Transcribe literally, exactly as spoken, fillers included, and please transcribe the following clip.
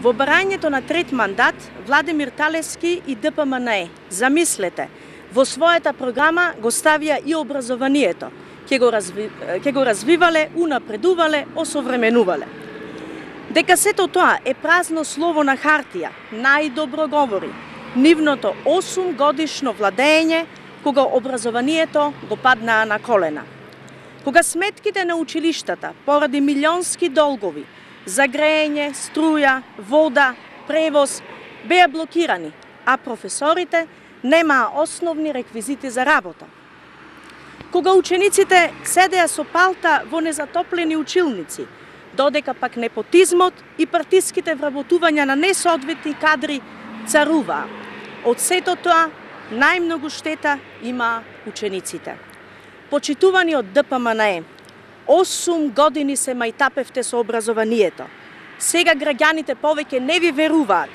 Во барањето на трет мандат, Владимир Талевски и Д П М Н Е, замислете, во својата програма го ставија и образованието. Ке го, разви... ке го развивале, унапредувале, осовременувале. Дека сето тоа е празно слово на хартија, најдобро говори нивното осум годишно владење, кога образованието го паднаа на колена. Кога сметките на училиштата поради милионски долгови за грејење, струја, вода, превоз беа блокирани, а професорите немаа основни реквизити за работа. Кога учениците седеа со палта во незатоплени училници, додека пак непотизмот и партиските вработувања на несоодветни кадри царуваа. Од сето тоа најмногу штета имаа учениците. Почитувани од Д П М Н Е, осум години се мајтапевте со образованието. Сега граѓаните повеќе не ви веруваат,